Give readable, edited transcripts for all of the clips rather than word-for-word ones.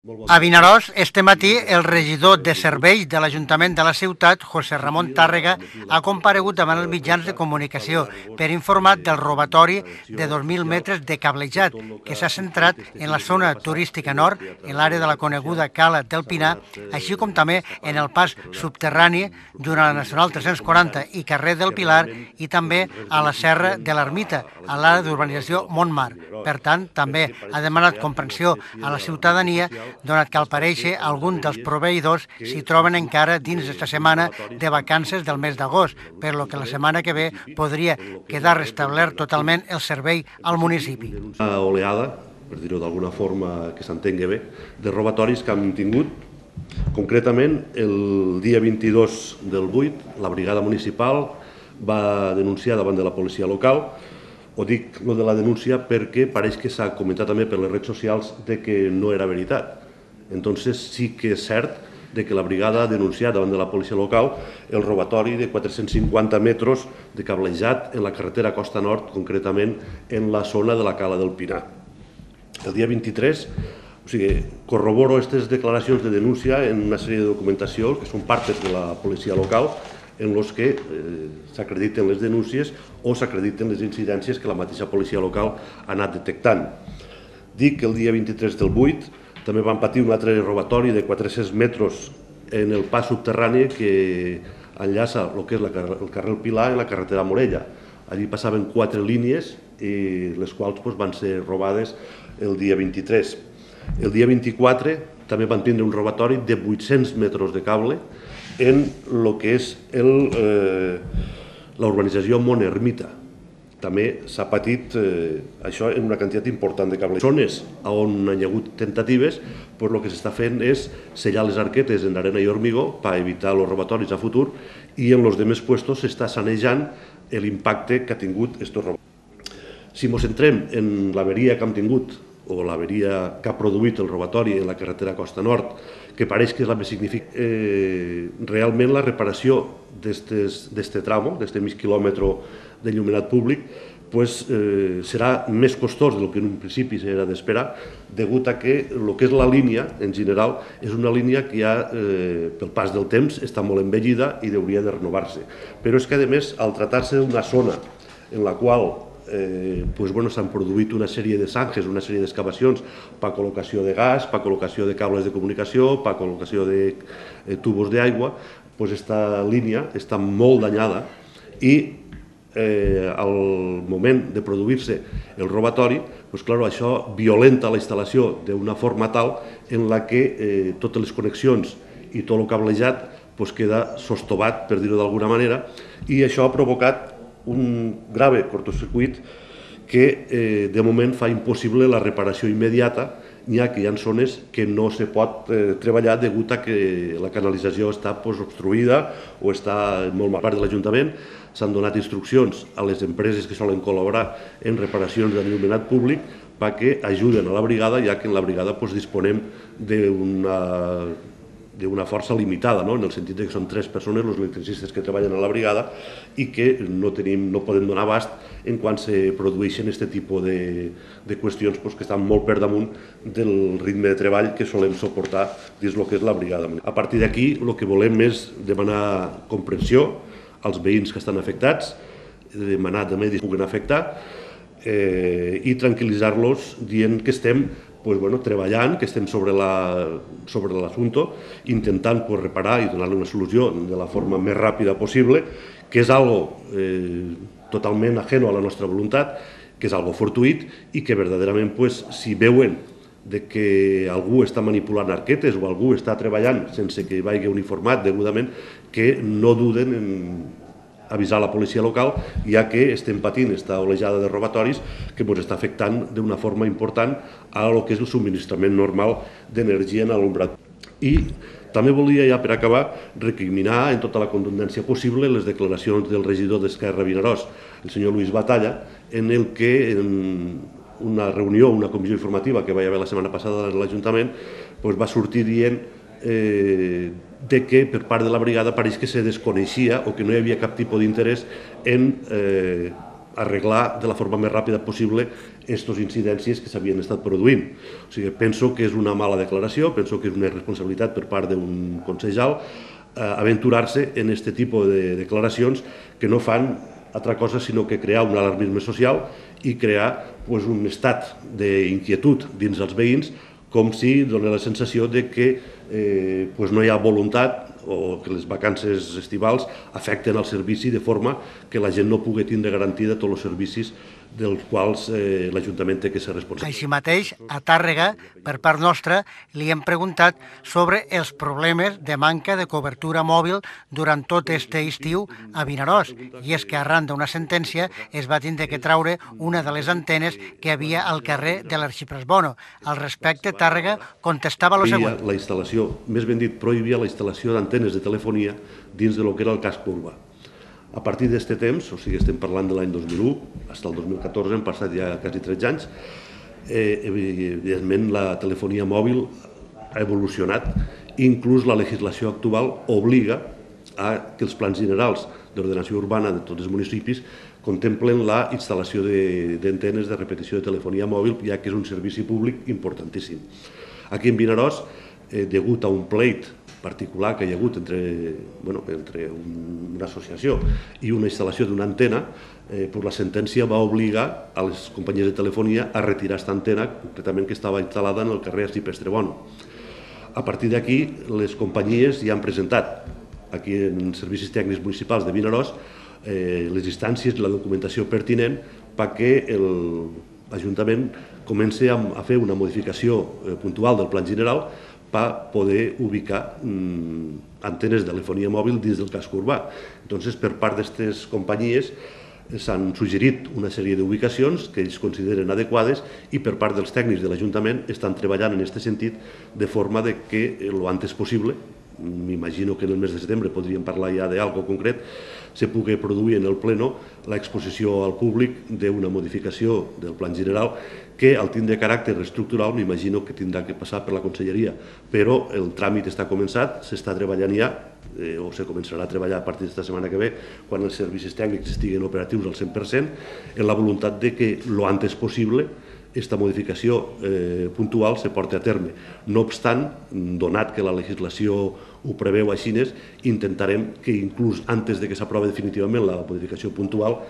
A Vinaròs, este matí, el regidor de serveis de l'Ajuntament de la ciutat, José Ramon Tàrrega, ha comparegut davant els mitjans de comunicació per informar del robatori de 2.000 metres de cablejat que s'ha centrat en la zona turística nord, en l'àrea de la coneguda Cala del Pinar, així com també en el pas subterrani durant la Nacional 340 i carrer del Pilar i també a la Serra de l'Ermita, a l'àrea d'urbanització Montmar. Per tant, també ha demanat comprensió a la ciutadania donat que al parèixer alguns dels proveïdors s'hi troben encara dins d'esta setmana de vacances del mes d'agost, per lo que la setmana que ve podria quedar restablert totalment el servei al municipi. Una oleada, per dir-ho d'alguna forma que s'entengui bé, de robatoris que han tingut. Concretament, el dia 22 del 8, la brigada municipal va denunciar davant de la policia local. Ho dic lo de la denúncia perquè pareix que s'ha comentat també per les redes socials de que no era veritat. Entonces sí que és cert de que la brigada ha denunciat davant de la policia local el robatori de 450 metres de cablejat en la carretera Costa Nord, concretament en la zona de la Cala del Pinar. El dia 23, corroboro aquestes declaracions de denúncia en una sèrie de documentació que són partes de la policia local en els que s'acrediten les denúncies o s'acrediten les incidències que la mateixa policia local ha anat detectant. Dic que el dia 23 del 8 també van patir un altre robatori de 400 metres en el pas subterrani que enllaça el que és el carrer Pilar i la carretera Morella. Allí passaven 4 línies i les quals van ser robades el dia 23. El dia 24 també van tindre un robatori de 800 metres de cable en el que és l'urbanització Mont Ermita. També s'ha patit això en una quantitat important de cables. Zones on hi ha hagut tentatives, el que s'està fent és sellar les arquetes en arena i hormigó per evitar els robatoris a futur i en els demés puestos s'està sanejant l'impacte que ha tingut aquests robatoris. Si ens centrem en l'averia que hem tingut o l'averia que ha produït el robatori en la carretera Costa Nord, que pareix que és la més significativa, realment la reparació d'aquest tramo, d'aquest mig quilòmetre d'enllumenat públic, serà més costós del que en un principi s'era d'esperar, degut a que el que és la línia, en general, és una línia que ja, pel pas del temps, està molt envellida i hauria de renovar-se. Però és que, a més, al tractar-se d'una zona en la qual s'han produït una sèrie de zanjes, una sèrie d'excavacions per col·locació de gas, per col·locació de cables de comunicació, per col·locació de tubos d'aigua, aquesta línia està molt danyada i al moment de produir-se el robatori, això violenta la instal·lació d'una forma tal en la que totes les connexions i tot el cablejat queda sostobat, per dir-ho d'alguna manera, i això ha provocat un grave cortocircuit que de moment fa impossible la reparació immediata, ja que hi ha zones que no se pot treballar degut a que la canalització està obstruïda o està molt mal. Per part de l'Ajuntament s'han donat instruccions a les empreses que solen col·laborar en reparacions d'enllumenat públic perquè ajuden a la brigada, ja que en la brigada disponem d'una força limitada, en el sentit que són 3 persones, els electricistes que treballen a la brigada, i que no podem donar abast en quan se produeixen aquest tipus de qüestions que estan molt per damunt del ritme de treball que solem suportar dins el que és la brigada. A partir d'aquí, el que volem és demanar comprensió als veïns que estan afectats, demanar també que puguen afectar i tranquil·litzar-los dient que estem treballant, que estem sobre l'assumpte, intentant reparar i donar-li una solució de la forma més ràpida possible, que és algo totalment ajeno a la nostra voluntat, que és algo fortuït i que verdaderament, si veuen que algú està manipulant arquetes o algú està treballant sense que vagi uniformat degudament, que no duden en avisar la policia local, ja que estem patint aquesta olejada de robatoris que ens està afectant d'una forma important a el que és el subministrament normal d'energia en l'alumbrad. I també volia, ja per acabar, recriminar en tota la contundència possible les declaracions del regidor d'Esquerra Vinaròs, el senyor Luis Batalla, en el que en una reunió, una comissió informativa que va haver la setmana passada a l'Ajuntament, va sortir dient de que per part de la brigada pareix que se desconeixia o que no hi havia cap tipus d'interès en arreglar de la forma més ràpida possible aquestes incidències que s'havien estat produint. O sigui, penso que és una mala declaració, penso que és una irresponsabilitat per part d'un consellal aventurar-se en aquest tipus de declaracions que no fan altra cosa sinó que crear un alarmisme social i crear un estat d'inquietud dins els veïns, com si dona la sensació de que no hi ha voluntat o que les vacances estivals afecten el servici de forma que la gent no pugui tindre garantida tots els servicis dels quals l'Ajuntament té que ser responsable. Així mateix, a Tàrrega, per part nostra, li hem preguntat sobre els problemes de manca de cobertura mòbil durant tot aquest estiu a Vinaròs. I és que arran d'una sentència es va tindre que traure una de les antenes que hi havia al carrer de l'Arxipresbono. Al respecte, Tàrrega contestava el següent. La instal·lació, més ben dit, prohibia la instal·lació d'antenes de telefonia dins del que era el casc urbà. A partir d'aquest temps, o sigui, estem parlant de l'any 2001, fins al 2014, han passat ja quasi 13 anys, evidentment la telefonia mòbil ha evolucionat, inclús la legislació actual obliga a que els plans generals d'ordenació urbana de tots els municipis contemplen la instal·lació d'antenes de repetició de telefonia mòbil, ja que és un servici públic importantíssim. Aquí en Vinaròs, degut a un pleit particular que hi ha hagut entre una associació i una instal·lació d'una antena, la sentència va obligar a les companyies de telefonia a retirar aquesta antena, concretament que estava instal·lada en el carrer Arxipresbono. A partir d'aquí, les companyies ja han presentat aquí en Servicis Tècnics Municipals de Vinaròs les instàncies i la documentació pertinent perquè l'Ajuntament comenci a fer una modificació puntual del Plan General per poder ubicar antenes de telefonia mòbil dins del casc urbà. Doncs, per part d'aquestes companyies s'han suggerit una sèrie d'ubicacions que ells consideren adequades i per part dels tècnics de l'Ajuntament estan treballant en aquest sentit de forma que el antes possible, m'imagino que en el mes de setembre podríem parlar ja d'algo concret, se pugui produir en el pleno l'exposició al públic d'una modificació del Plan General que al tindre caràcter estructural m'imagino que tindrà que passar per la Conselleria, però el tràmit està començat, s'està treballant ja, o se començarà a treballar a partir d'esta setmana que ve, quan els servicis tècnics estiguin operatius al 100%, en la voluntat de que lo antes possible aquesta modificació puntual se porti a terme. No obstant, donat que la legislació ho preveu així, intentarem que inclús antes de que s'aprovi definitivament la modificació puntual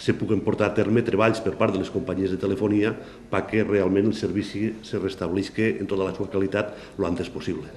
se puguen portar a terme treballs per part de les companyies de telefonia perquè realment el servici se restableixi en tota la seva qualitat lo antes possible.